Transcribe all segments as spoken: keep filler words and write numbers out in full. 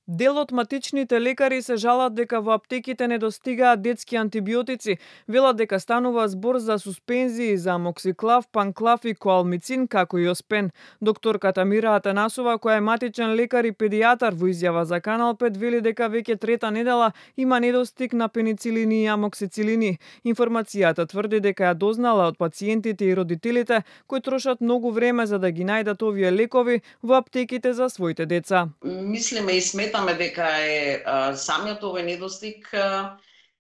Дел од матичните лекари се жалат дека во аптеките недостигаат детски антибиотици, велат дека станува збор за суспензии за амоксиклав, панклав и коалмицин, како и оспен. Докторката Мира Атанасова, која е матичен лекар и педијатар, во изјава за Канал пет вели дека веќе трета недела има недостиг на пеницилини и амоксицилини. Информацијата тврди дека ја дознала од пациентите и родителите кои трошат многу време за да ги најдат овие лекови во аптеките за своите деца. Мислиме и сметаме дека е а, самиот овој недостиг а,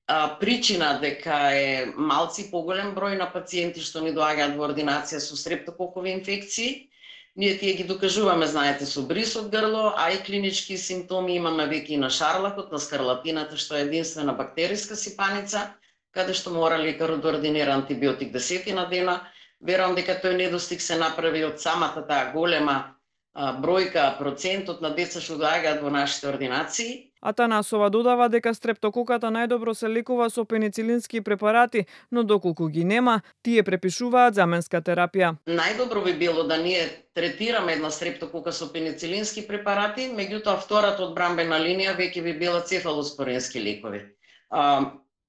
а, причина дека е малци поголем број на пациенти што ни доаѓаат во ординација со стрептококови инфекции. Ние тие ги докажуваме, знаете, со бриз од грло, а и клинички симптоми имаме веќе и на шарлакот, на скарлатината, што е единствена бактериска сипаница, каде што мора лекарот да ординира антибиотик десетина дена. Верувам дека тој недостиг се направи од самата таа голема бројка, процентот на деца што доаѓаат во нашите ординации. Атанасова додава дека стрептококата најдобро се лекува со пеницилински препарати, но доколку ги нема, тие препишуваат заменска терапија. Најдобро би било да ние третираме една стрептокока со пеницилински препарати, меѓутоа втората одбранбена линија веќе би била цефалоспорински лекови.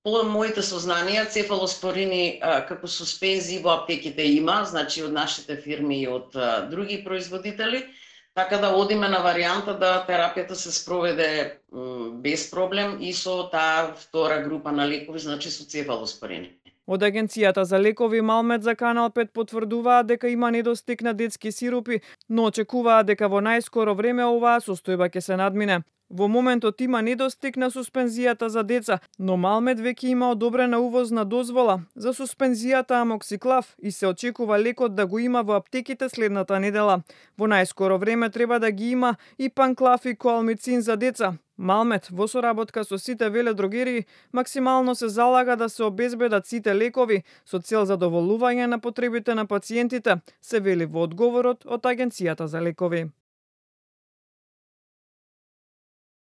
По моите сознанија, цефалоспорини како суспензии во аптеките има, значи од нашите фирми и од други производители, така да одиме на варијанта да терапијата се спроведе без проблем и со таа втора група на лекови, значи со цефалоспорини. Од Агенцијата за лекови Малмет за Канал пет потврдуваат дека има недостиг на детски сирупи, но очекуваат дека во најскоро време оваа состојба ќе се надмине. Во моментот има недостиг на суспензијата за деца, но Малмет веќе има одобрена увозна дозвола за суспензијата амоксиклав и се очекува лекот да го има во аптеките следната недела. Во најскоро време треба да ги има и панклав и коалмицин за деца. Малмет, во соработка со сите веледрогерии, максимално се залага да се обезбедат сите лекови со цел задоволување на потребите на пациентите, се вели во одговорот од Агенцијата за лекови.